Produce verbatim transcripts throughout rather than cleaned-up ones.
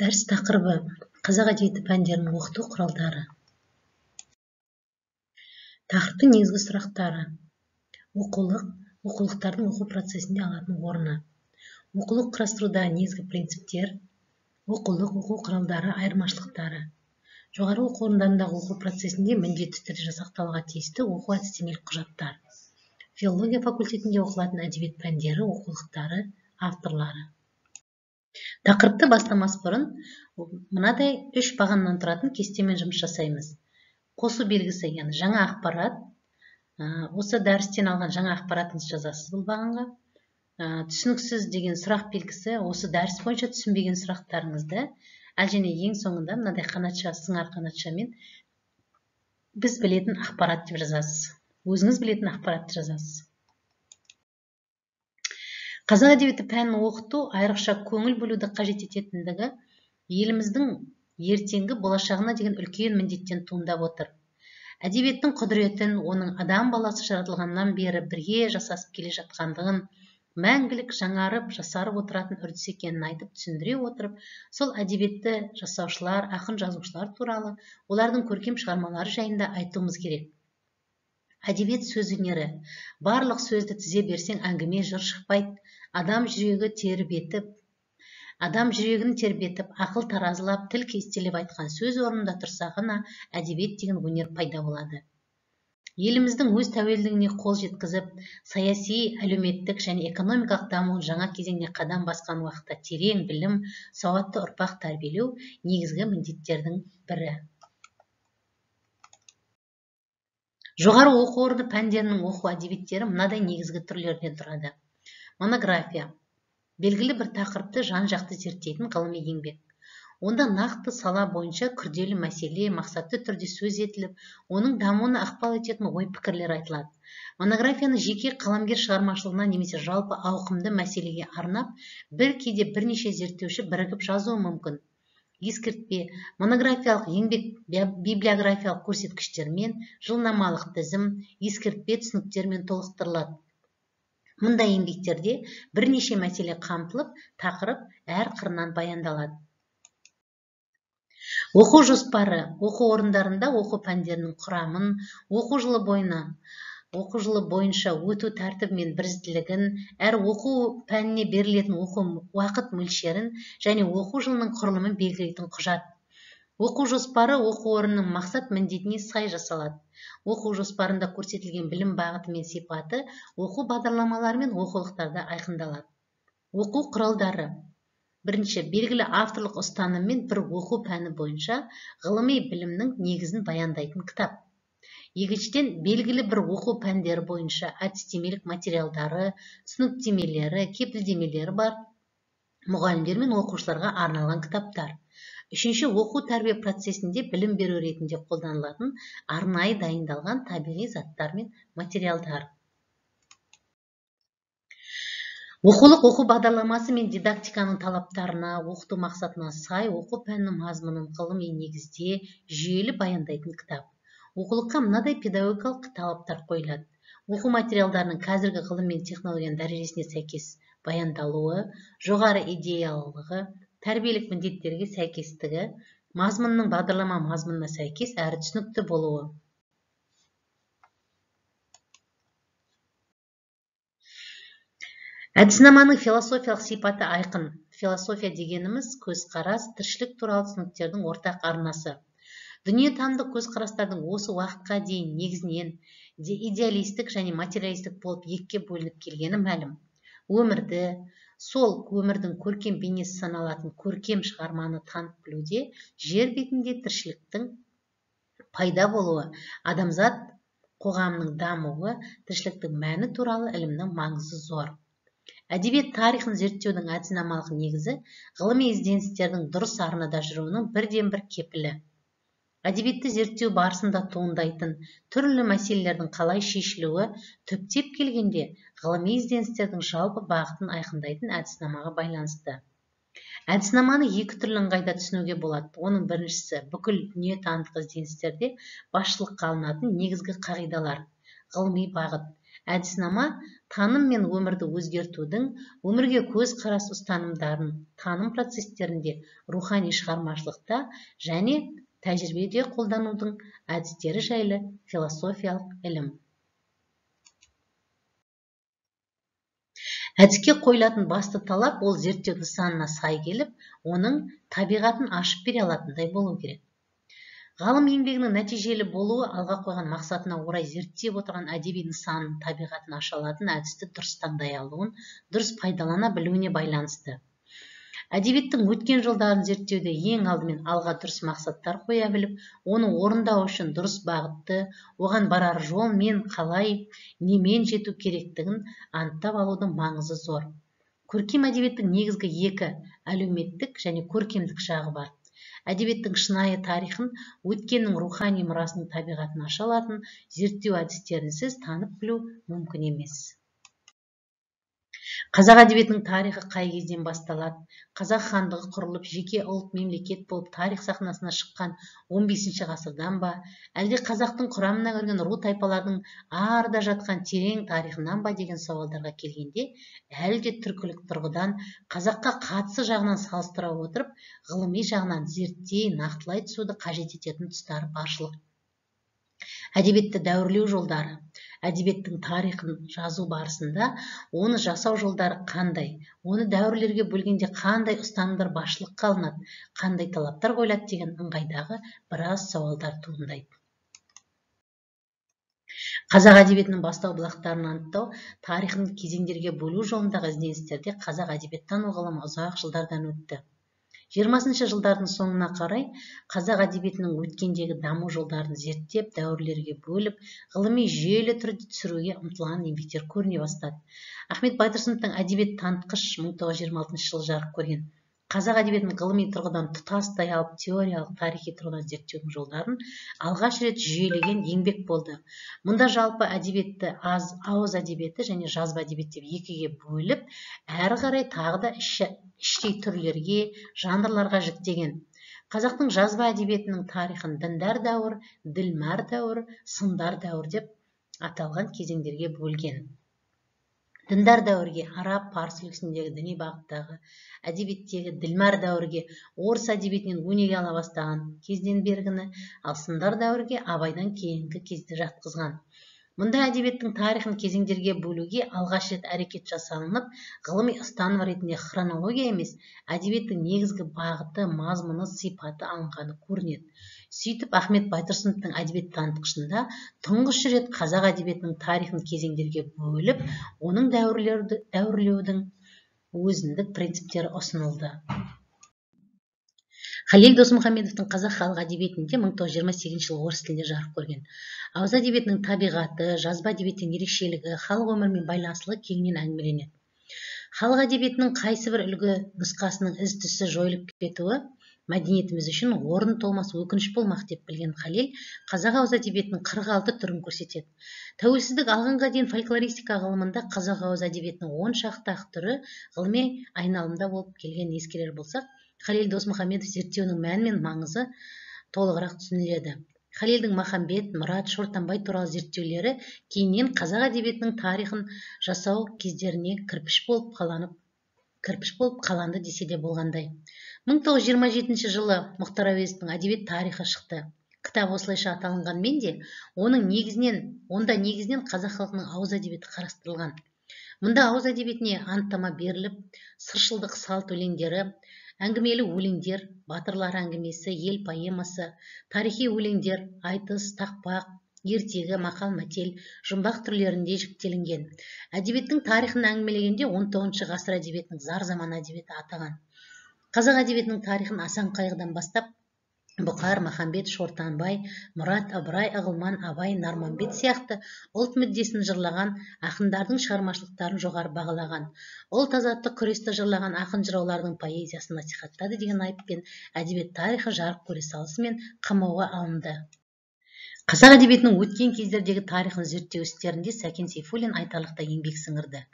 Дәріс тақырыбы қазақ әдебиеті пәндерінің оқыту құралдары. Тақырыптың негізгі сұрақтары: оқулық, оқулықтардың оқу процесінде алатын орны, оқулық құрастыруда негізгі принциптер, оқулық, оқу құралдары айырмашылықтары, жоғары оқу орындарындағы оқу процесінде міндетті түрде жасақталуға тиісті оқу әдістемелік құжаттар, филология факультетінде оқылатын әдебиет пәндері, оқулықтары, авторлары. Тақырыпты бастамас бұрын мынадай үш бағаннан тұратын кестемен жұмыс жасаймыз. Қосу белгісі, яғни жаңа ақпарат. Осы дәрістен алған жаңа ақпаратыңызды жазасыз бұл бағанға. Түсініксіз деген сұрақ белгісі, осы дәріс бойынша түсінбеген сұрақтарыңызды, әл және ең соңында мынадай қанатша, сыңар қанатшамен біз білетін ақпарат деп жазасыз. Өзіңіз білетін ақпаратты жазасыз. Қазақ әдебиеті пәнін оқыту айрықша көңіл бөлуді қажет ететіндігі еліміздің ертеңгі болашағына деген үлкен міндеттен туындап отыр. Әдебиеттің құдіретін, оның адам баласы жаратылғаннан бері бірге жасасып келе жатқандығын, мәңгілік жаңарып, жасарып отыратын үрдіс екенін айтып түсіндіре отырып, сол әдебиетті жасаушылар, ақын жазушылар туралы, олардың көркем шығармалары жайында айтуымыз керек. Әдебиет сөз өнері. Барлық сөзді тізе берсең әңгіме жыр шықпайды. Адам жүрегі тербетіп, адам жүрегін тербетіп, ақыл таразылап, тіл кестелеп айтқан сөз орнында тұрса ғана әдебиет деген өнер пайда болады. Еліміздің өз тәуелдігіне қол жеткізіп, саяси, әлеуметтік және экономикалық дамуын жаңа кезеңіне қадам басқан уақытта терең білім, сауатты ұрпақ тәрбиелеу негізгі міндеттердің бірі. Жоғары оқу орны пәндерінің оқу әдебиеттері мынадай негізгі түрлерден тұрады. Монография. Белгілі бір тақырыпты жан-жақты зерттейтін ғылыми еңбек. Онда нақты сала бойынша күрделі мәселе мақсатты түрде сөз етіліп, оның дамуына ықпал ететін ой-пікірлер айтылады. Монографияны жеке қаламгер шығармашылығына немесе жалпы ауқымды мәселеге арнап, бір кейде бірнеше зерттеуші бірігіп жазуы мүмкін. Ескертпе: монографиялық еңбек библиографиялық көрсеткіштермен, жылнамалық тізім, ескертпе түсініктермен толықтырылады. Мұндай еңбектерде бірнеше мәселе қамтылып, тақырып әр қырынан баяндалады. Оқу жоспары. Оқу орындарында оқу пәндерінің құрамын, оқу жылы бойына оқу жылы бойынша өту тәртібі мен бірізділігін, әр оқу пәніне берілетін оқу уақыт мөлшерін және оқу жылының құрылымын белгілейтін құжат. Оқу жоспары оқу орнының мақсат міндетіне сай жасалады. Оқу жоспарында көрсетілген білім бағыты мен сипаты оқу бағдарламалары мен оқулықтарда айқындалады. Оқу құралдары. Бірінші, белгілі авторлық ұстаныммен бір оқу пәні бойынша ғылыми білімнің негізін баяндайтын кітап. Екіншіден, белгілі бір оқу пәндері бойынша әдістемелік материалдары, түсініктемелері, кепілдемелері бар мұғалімдер мен оқушыларға арналған кітаптар. Үшінші, оқу тәрбие процесінде білім беру ретінде қолданылатын арнайы дайындалған табиғи заттар мен материалдар. Оқулық оқу бағдарламасы мен дидактиканың талаптарына, оқыту мақсатына сай оқу пәнінің мазмұнын ғылыми негізде жүйелі баяндайтын кітап. Оқулыққа мынадай педагогикалық талаптар қойылады. Оқу материалдарының қазіргі ғылым мен технологияның дәрежесіне сәйкес баяндалуы, жоғары идеялылығы, тәрбиелік міндеттерге сәйкестігі, мазмұнның бағдарлама мазмұнына сәйкес әрі түсінікті болуы. Әдіснаманың философиялық сипаты айқын. Философия дегеніміз көзқарас, тіршілік туралы түсініктердің ортақ арнасы. Дүниетанымдық көзқарастардың осы уақытқа дейін негізінен идеалистік және материалистік болып екіге бөлініп келгені мәлім. Өмірді, сол өмірдің көркем бейнесі саналатын көркем шығарманы танып білуде жер бетінде тіршіліктің пайда болуы, адамзат қоғамының дамуы, тіршіліктің мәні туралы ілімнің маңызы зор. Әдебиет тарихын зерттеудің әдіснамалық негізі ғылыми ізденістердің дұрыс арнада жүруінің бірден бір кепілі. Әдебиетті зерттеу барысында туындайтын түрлі мәселелердің қалай шешілуі түптеп келгенде ғылыми ізденістердің жалпы бағытын айқындайтын әдіснамаға байланысты. Әдіснаманы екі түрлі ыңғайда түсінуге болады. Оның біріншісі бүкіл дүниетанымдық ізденістерде басшылыққа алынатын негізгі қағидалар, ғылыми бағыт. Әдіснама таным мен өмірді өзгертудің, өмірге көз қарас ұстанымдарын таным процестерінде, рухани шығармашылықта және тәжірибеде қолданудың әдістері жайлы философиялық ілім. Әдіске қойылатын басты талап ол зерттеу нысанына сай келіп, оның табиғатын ашып бере алатындай болу керек. Ғалым еңбегінің нәтижелі болуы алға қойған мақсатына орай зерттеп отырған әдеби нысанның табиғатын аша алатын әдісті дұрыс таңдай алуын, дұрыс пайдалана білуіне байланысты. Әдебиеттің өткен жылдарын зерттеуде ең алдымен алға дұрыс мақсаттар қоя біліп, оны орындау үшін дұрыс бағытты, оған барар жол мен қалай, немен жету керектігін анықтап алудың маңызы зор. Көркем әдебиеттің негізгі екі әлеуметтік және көркемдік жағы бар. Әдебиеттің шынайы тарихын, өткеннің рухани мұрасының табиғатын аша алатын зерттеу әдістерінсіз танып білу мүмкін емес. Қазақ әдебиетінің тарихы қай кезден басталады? Қазақ хандығы құрылып, жеке ұлт мемлекет болып тарих сахнасына шыққан он бесінші ғасырдан ба, әлде қазақтың құрамына кірген ру тайпалардың арда жатқан терең тарихынан ба деген сауалдарға келгенде, әлі де түркілік тұрғыдан қазаққа қатысы жағынан салыстыра отырып, ғылыми жағынан зерттей, нақтылай түсуді қажет ететін тұстары баршылық. Әдебиетті дәуірлеу жолдары. Әдебиеттің тарихын жазу барысында оны жасау жолдары қандай, оны дәуірлерге бөлгенде қандай ұстанымдар басшылыққа алынады, қандай талаптар қойылады деген ыңғайдағы біраз сауалдар туындайды. Қазақ әдебиетінің бастау бұлақтарын анықтау, тарихын кезеңдерге бөлу жолындағы ізденістерде қазақ әдебиеттану ғылымы ұзақ жылдардан өтті. жиырмасыншы жылдардың соңына қарай қазақ әдебиетінің өткендегі даму жолдарын зерттеп, дәуірлерге бөліп, ғылыми жүйелі түрде түсіруге ұмтылған еңбектер көріне бастады. Ахмет Байтұрсыновтың әдебиет танытқыш мың тоғыз жүз жиырма алтыншы жылы жарық көрген қазақ әдебиетінің ғылыми тұрғыдан тұтастай алып, теориялық, тарихи тұрғыдан зерттеудің жолдарын алғаш рет жүйелеген еңбек болды. Мұнда жалпы әдебиетті ауыз әдебиеті және жазба әдебиет деп екіге бөліп, әрі қарай тағы да іштей түрлерге, жанрларға жіктеген. Қазақтың жазба әдебиетінің тарихын діндар дәуір, ділмар дәуір, сындар дәуір деп аталған кезеңдерге бөлген. Діндар дәуірге араб, парсы үлгісіндегі діни бағыттағы, әдебиеттегі ділмар дәуірге орыс әдебиетінен өнеге ала бастаған кезден бергіні, ал сындар дәуірге абайдан кейінгі кезде жатқызған. Мұнда әдебиеттің тарихын кезеңдерге бөлуге алғаш рет әрекет жасалынып, ғылыми ұстаным ретінде хронология емес, әдебиеттің негізгі бағыты, мазмұны, сипаты алынғаны көрінеді. Сөйтіп, Ахмет Байтұрсыновтың әдебиет танытқышында тұңғыш рет қазақ әдебиетінің тарихын кезеңдерге бөліп, оның дәуірлеудің өзіндік принциптері ұсынылды. Халел Досмұхамедовтың қазақ халық әдебиетінде мың тоғыз жүз жиырма сегізінші жылы орыс тілінде жарық көрген. Ауыз әдебиетінің табиғаты, жазба әдебиеттің ерекшелігі, халық өмірімен байланыстылығы кеңінен әңгімеленеді. Халық әдебиетінің қайсы бір үлгі нұсқасының із-түзсіз жойылып кетуі мәдениетіміз үшін орын толмас өкініш болмақ деп білген Халел, қазақ ауыз әдебиетінің қырық алты түрін көрсетеді. Тәуелсіздік алғанға дейін фольклористика ғылымында қазақ ауыз әдебиетінің он шақты түрі ғылыми айналымда болып келген ескерер болсақ, Халел Досмұхамедов зерттеуінің мәні мен маңызы толығырақ түсініледі. Халелдің Махамбет, Мұрат, Шортанбай туралы зерттеулері кейіннен қазақ әдебиетінің тарихын жасау кездеріне кірпіш болып қаланып, кірпіш болып қаланды десе де болғандай. мың тоғыз жүз жиырма жетінші жылы Мұхтар Әуезовтің әдебиет тарихы шықты. Кітап осылайша аталынғанмен де, оның негізінен, онда негізінен қазақ халқының ауыз әдебиеті қарастырылған. Мұнда ауыз әдебиетіне анықтама беріліп, сыршылдық салт өлеңдері, әңгімелі өлеңдер, батырлар әңгімесі, ел поэмасы, тарихи өлеңдер, айтыс, тақпақ, ертегі, мақал-мәтел, жұмбақ түрлерінде жіктелінген. Әдебиеттің тарихын әңгімелегенде он тоғызыншы ғасыр әдебиетінің зар заман әдебиеті атаған. Қазақ әдебиетінің тарихын Асан Қайғыдан бастап, Бұқар, Махамбет, Шортанбай, Мұрат, Ыбырай, Ағылман, Абай, Нарманбет сияқты ұлт мүддесін жырлаған ақындардың шығармашылықтарын жоғары бағалаған. Ұлт азаттық күресті жырлаған ақын жыраулардың поэзиясын насихаттады деген айыппен әдебиет тарихы жарық көре салысымен қамауға алынды. Қазақ әдебиетінің өткен кездердегі тарихын зерттеу істерінде Сәкен Сейфуллин айтарлықтай еңбек сіңірді.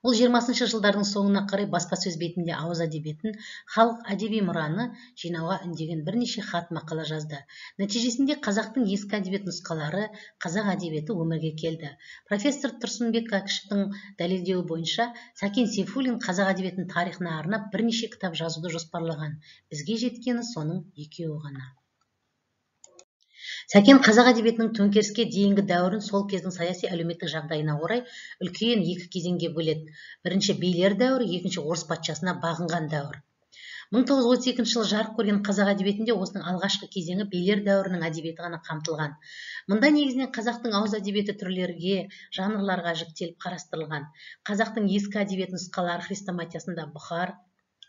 Ол жиырмасыншы жылдардың соңына қарай баспасөз бетінде ауыз әдебиетін, халық әдеби мұраны жинауға үндеген бірнеше хат мақала жазды. Нәтижесінде қазақтың ескі әдебиет нұсқалары, қазақ әдебиеті өмірге келді. Профессор Тұрсынбек Кәкішевтің дәлелдеуі бойынша, Сәкен Сейфуллин қазақ әдебиетінің тарихына арнап бірнеше кітап жазуды жоспарлаған. Бізге жеткені соның екеуі ғана. Сәкен қазақ әдебиетінің төңкеріске дейінгі дәуірін сол кездің саяси әлеуметтік жағдайына орай үлкен екі кезеңге бөледі. Бірінші билер дәуірі, екінші орыс патшасына бағынған дәуір. мың тоғыз жүз отыз екінші жылы жарық көрген қазақ әдебиетінде осының алғашқы кезеңі билер дәуірінің әдебиеті ғана қамтылған. Мұнда негізінен қазақтың ауыз әдебиеті түрлерге, жанрларға жіктеліп қарастырылған. Қазақтың ескі әдебиет нұсқалары хрестоматиясында Бұхар,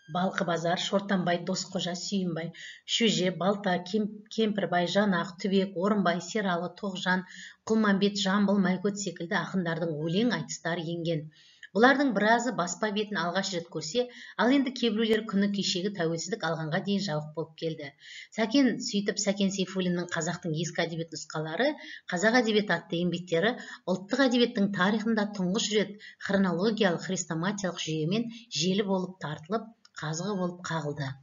Балқы базар, Шортанбай, Досқожа, Сүйінбай, Шөже, Балта, Кемпірбай, Жанақ, Түбек, Орынбай, Сералы, Тоғжан, Құлманбет, Жамбыл, Майкөт секілді ақындардың өлең айтыстары енген. Бұлардың біразы баспа бетін алғаш рет көрсе, ал енді кейбіреулер күні кешегі тәуелсіздік алғанға дейін жабық болып келді. Сәкен сөйтіп Сәкен Сейфуллиннің қазақтың ескі әдебиет нұсқалары, қазақ әдебиеті атты еңбектері ұлттық әдебиеттің тарихында тұңғыш рет хронологиялық хрестоматиялық жүйемен желі болып тартылып, қазығы болып қағылды.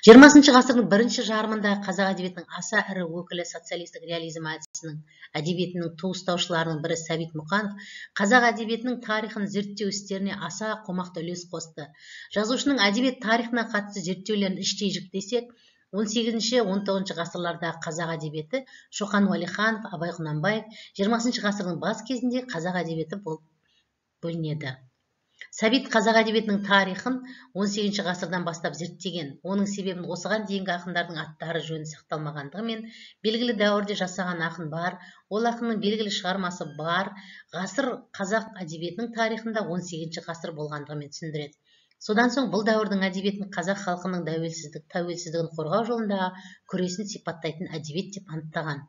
жиырмасыншы ғасырдың бірінші жарымында қазақ әдебиетінің аса ірі өкілі социалистік реализм әдісінің әдебиетінің туыстаушыларының бірі Сәбит Мұқанов қазақ әдебиетінің тарихын зерттеу істеріне аса қомақты үлес қосты. Жазушының әдебиет тарихына қатысты зерттеулерін іштей жіктесек, он сегізінші он тоғызыншы ғасырлардағы қазақ әдебиеті Шоқан Уәлиханов, Абай Құнанбаев, жиырмасыншы ғасырдың бас кезінде қазақ әдебиеті болып бөлінеді. Сәбит қазақ әдебиетінің тарихын он сегізінші ғасырдан бастап зерттеген. Оның себебін осыған дейінгі ақындардың аттары жөні сақталмағандығымен, белгілі дәуірде жасаған ақын бар, ол ақынның белгілі шығармасы бар, ғасыр қазақ әдебиетінің тарихында он сегізінші ғасыр болғандығымен түсіндіреді. Содан соң бұл дәуірдің әдебиетін қазақ халқының тәуелсіздік, тәуелсіздігін қорғау жолындағы күресін сипаттайтын әдебиет деп анықтаған.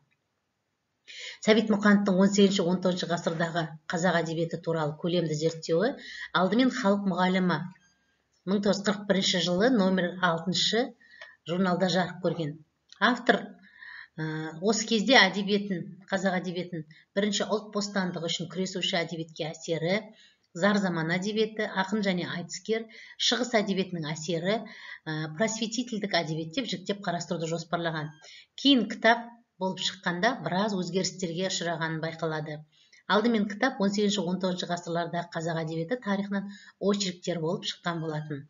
Сәбит Мұқановтың он сегізінші он тоғызыншы ғасырдағы қазақ әдебиеті туралы көлемді зерттеуі алдымен халық мұғалімі мың тоғыз жүз қырық бірінші жылы номер алтыншы журналда жарық көрген. Автор осы кезде әдебиетін, қазақ әдебиетін бірінші ұлт бостандығы үшін күресуші әдебиетке әсері, зар заман әдебиеті, ақын және айтыскер, шығыс әдебиетінің әсері, просветительдік әдебиет деп жіктеп қарастыруды жоспарлаған. Кейін кітап болып шыққанда біраз өзгерістерге ұшырағанын байқалады. Алдымен кітап он сегізінші он тоғызыншы ғасырлардағы қазақ әдебиеті тарихынан очерктер болып шыққан болатын.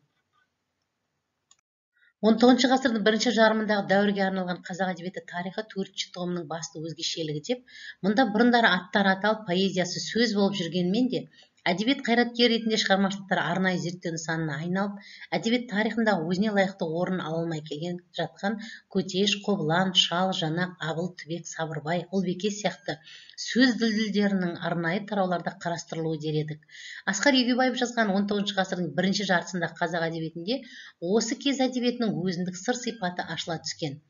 он тоғызыншы ғасырдың бірінші жарымындағы дәуірге арналған қазақ әдебиеті тарихы төртінші томының басты өзгешелігі деп, мұнда бұрындары аттар аталып поэзиясы сөз болып жүргенмен де, әдебиет қайраткері ретінде шығармашылықтар арнайы зерттеу нысанына айналып, әдебиет тарихында өзіне лайықты орын ала алмай келген жатқан Көтеш, Қобылан, Шал, Жанақ, Абыл, Түбек, Сабырбай, Ұлбеке сияқты сөз дүлдүлдерінің арнайы тарауларда қарастырылуы дер едік. Асқар Егеубаев жазған он тоғызыншы ғасырдың бірінші жартысында қазақ әдебиетінде осы кез әдебиетінің өзіндік сыр сипаты ашыла түскен.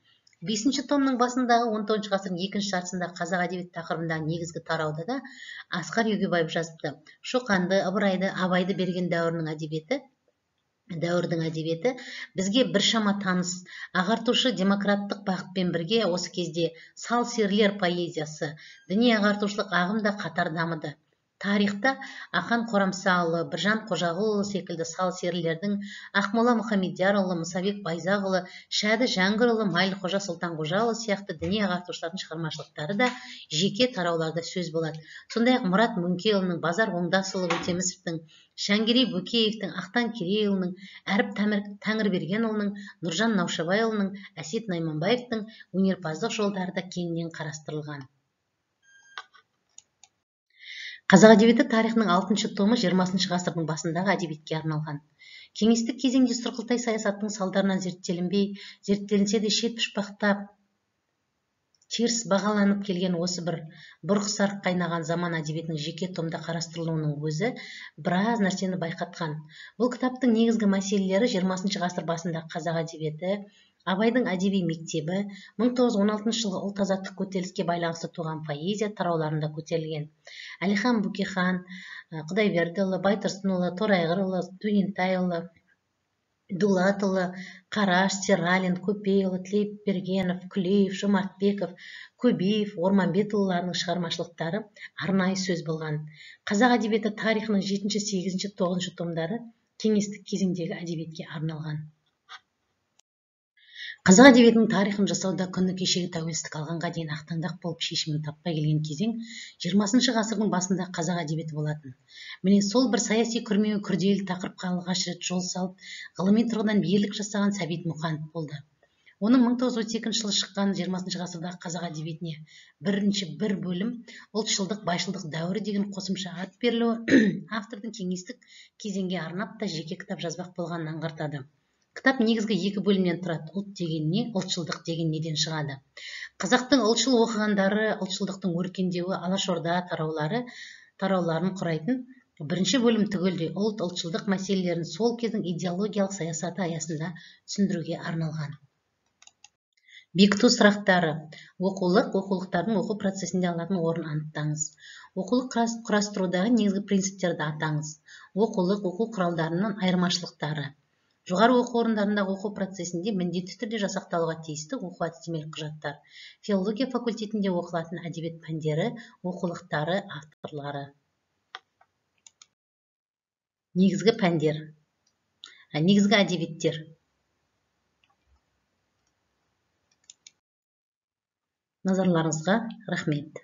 бесінші томның басындағы он тоғызыншы ғасырдың екінші жартысында қазақ әдебиет тақырыбындағы негізгі тарауда да Асқар Егеубаев жазыпты. Шоқанды, Ыбырайды, Абайды берген дәуірінің әдебиеті, дәуірдің әдебиеті бізге біршама таныс. Ағартушы демократтық бағытпен бірге осы кезде сал серілер поэзиясы, діни ағартушылық ағым да қатар дамыды. Тарихта Ақан Қорамсаұлы, Біржан Қожағұлы секілді сал серілердің, Ақмола Мұхамедиярұлы, Мұсабек Байзақұлы, Шәді Жәңгірұлы, Майлықожа Сұлтанқожаұлы сияқты діни ағартушылардың шығармашылықтары да жеке тарауларда сөз болады. Сондай-ақ Мұрат Мөңкеұлының, Базар Оңдасұлы Өтемісовтің, Шәңгерей Бөкеевтің, Ақтан Керейұлының, Әріп Тәңірбергенұлының, Нұржан Наушабайұлының, Әсет Найманбаевтың өнерпаздық жолдары да кеңінен қарастырылған. Қазақ әдебиеті тарихының алтыншы томы жиырмасыншы ғасырдың басындағы әдебиетке арналған. Кеңестік кезеңде сұрқылтай саясаттың салдарынан зерттелінбей, зерттелінсе де шет пұшпақтап теріс бағаланып келген осы бір бұрқ-сарқ қайнаған заман әдебиетінің жеке томда қарастырылуының өзі біраз нәрсені байқатқан. Бұл кітаптың негізгі мәселелері жиырмасыншы ғасыр басындағы қазақ әдебиеті, Абайдың әдеби мектебі, мың тоғыз жүз он алтыншы жылғы ұлт азаттық көтеріліске байланысты туған поэзия тарауларында көтерілген. Әлихан Бөкейхан, Құдайбердіұлы, Байтұрсынұлы, Торайғырұлы, Дөнентайұлы, Дулатұлы, Қараш, Сералин, Көпейұлы, Тілепбергенов, Күлеев, Жомартбеков, Көбеев, Орманбетұлыларының шығармашылықтары арнайы сөз болған. Қазақ әдебиеті тарихының жетінші, сегізінші, тоғызыншы томдары кеңестік кезеңдегі әдебиетке арналған. Қазақ әдебиетінің тарихын жасауда күні кешегі тәуелсіздік алғанға дейін ақтаңдақ болып шешімін таппай келген кезең жиырмасыншы ғасырдың басында қазақ әдебиеті болатын. Міне сол бір саяси күрмеуі күрделі тақырыпқа алғаш рет жол салып, ғылыми тұрғыдан ерлік жасаған Сәбит Мұқанов болды. Оның мың тоғыз жүз отыз екінші жылы шыққан жиырмасыншы ғасырдағы қазақ әдебиетіне бірінші бір бөлім ұлтшылдық, байшылдық дәуірі деген қосымша ат берілуі автордың кеңестік кезеңге арнап та жеке кітап жазбақ болғанын аңғартады. Кітап негізгі екі бөлімнен тұрады. Ұлт деген не, ұлтшылдық деген неден шығады. Қазақтың ұлтшыл оқығандары, ұлтшылдықтың өркендеуі, алашорда тараулары, тарауларын құрайтын бірінші бөлім түгелдей ұлт, ұлтшылдық мәселелерін сол кездің идеологиялық саясаты аясында түсіндіруге арналған. Бекіту сұрақтары. Оқулық, оқулықтардың оқу процесінде алатын орнын анықтаңыз. Оқулық құрастырудағы негізгі принциптерді атаңыз. Оқулық, оқу құралдарының айырмашылықтары. Жоғары оқу орындарындағы оқу процесінде міндетті түрде жасақталуға тиісті оқу әдістемелік құжаттар. Филология факультетінде оқылатын әдебиет пәндері, оқулықтары, авторлары. Негізгі пәндер. Негізгі әдебиеттер. Назарларыңызға рахмет.